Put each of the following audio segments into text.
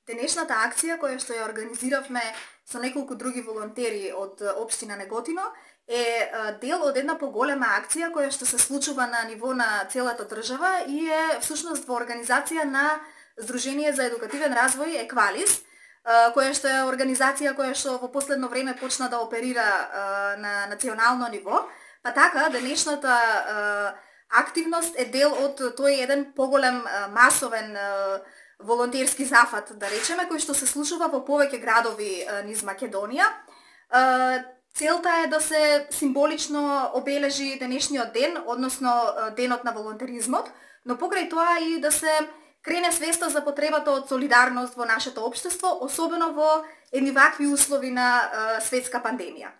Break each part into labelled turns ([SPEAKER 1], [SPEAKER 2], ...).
[SPEAKER 1] Денешната акција која што ја организиравме со неколку други волонтери од општина Неготино е дел од една поголема акција која што се случува на ниво на целата држава и е всушност во организација на Здружение за едукативен развој Еквалис, која што е организација која што во последно време почна да оперира на национално ниво, па така денешната активност е дел од тој еден поголем масовен волонтерски зафат, да речеме, кој што се случува во повеќе градови низ Македонија. Целта е да се символично обележи денешниот ден, односно денот на волонтеризмот, но покрај тоа и да се крене свеста за потребата од солидарност во нашето општество, особено во едни вакви услови на светска пандемија.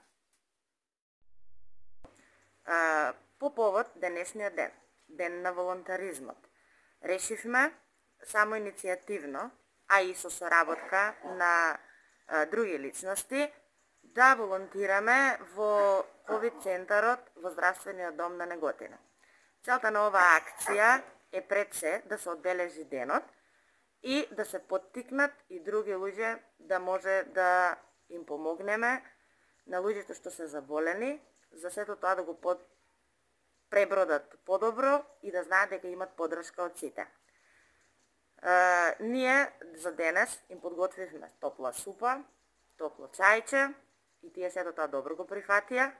[SPEAKER 2] По повод денешниот ден, ден на волонтаризмот, решивме само иницијативно, а и со соработка на други личности, да волонтираме во ковид центарот во Здравствениот дом на Неготино. Целта на оваа акција е пред се да се одбележи денот и да се поттикнат и други луѓе да може да им помогнеме на луѓето што се заболени, за сето тоа да го пребродат подобро и да знаат дека имат поддршка од сите. Ние за денес им подготвивме топла супа, топло чајче и тие сето тоа добро го прифатија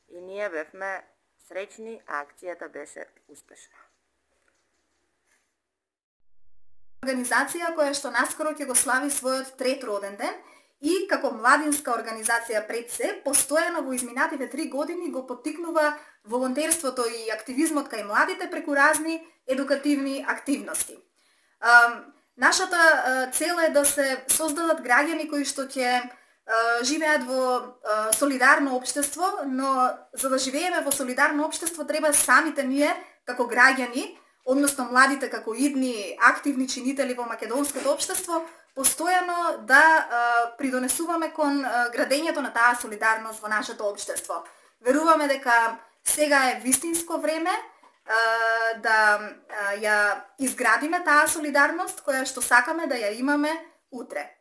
[SPEAKER 2] и ние бевме среќни, а акцијата беше успешна.
[SPEAKER 1] Организација која што наскоро ќе го слави својот трет роден ден и како младинска организација пред се, постојано во изминатите 3 години го поттикнува волонтерството и активизмот кај младите преку разни едукативни активности. Нашата цел е да се создадат граѓани кои што ќе живеат во солидарно општество, но за да живееме во солидарно општество треба самите ние како граѓани, односно младите како идни активни чинители во македонското општество, постојано да придонесуваме кон градењето на таа солидарност во нашето општество. Веруваме дека сега е вистинско време да ја изградиме таа солидарност која што сакаме да ја имаме утре.